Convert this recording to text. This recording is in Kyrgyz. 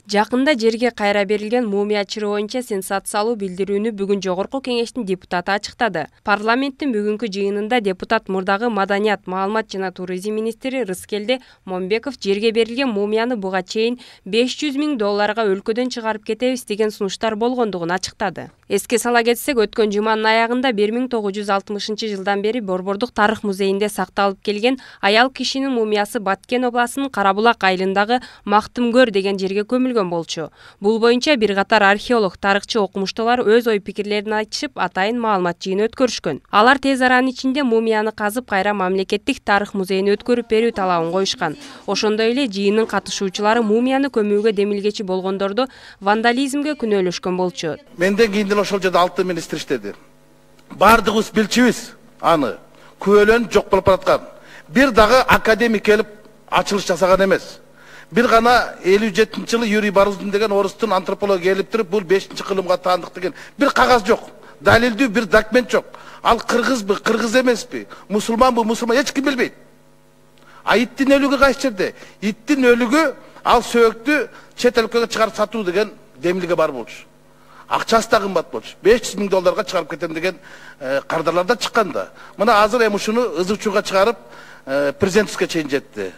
Жакында жерге кайра берилген мумия чыры боюнча сенсациялуу билдирүүнү бүгүн Жогорку Кеңештин депутаты ачыктады. Парламенттин бүгүнкү жыйынында депутат мурдагы маданият, маалымат жана туризм министри Рыскелди Момбеков жерге берилген мумияны буга чейин $500,000 өлкөдөн чыгарып кетебиз деген сунуштар болгондугун ачыктады. Эске сала кетсек, өткөн жуманын аягында 1960-жылдан бери Борбордук тарых музейинде сакталып келген аял кишинин мумиясы Баткен областынын Карабулак айылындагы Мактымгөр деген жерге көмүлгөн болчу. Бул боюнча бир катар археолог, тарыхчы, окумуштуулар өз ой пикирлерин айтышып, атайын маалымат жыйыны өткөрүшкөн. Алар тез аранын ичинде мумияны казып кайра мамлекеттик тарых музейине өткөрүп берүү талабын коюшкан. Ошондой эле жыйынын катышуучулары мумияны көмүүгө демилгечи болгондорду вандализмге күнөөлөшкөн болчу. Менден кийин ошол жерде 6 министр иштеди. Бардыгыбыз билчүбүз аны. Күбөлөнүп жок болуп бараткан. Бир дагы академик келип ачылыш жасаган эмес. Бир гана 57-жылы Юрий Барузин деген орустун антрополог келип туруп, бул 5-кылымга таандык деген бир кагаз жок. Далилдүү бир документ жок. Ал кыргызбы, кыргыз эмеспи, мусулманбы, мусулман эч ким билбейт. А иттин өлүгү кайсы жерде? Иттин өлүгү ал сөөктү чет өлкөгө чыгарып сатуу деген демилге бар болчу. Акчасы да кымбат болчу. $500,000 чыгарып кетем деген кардарлар да чыккан да. Мына азыр эми ушуну ызы чууга чыгарып президентке чейин жетти.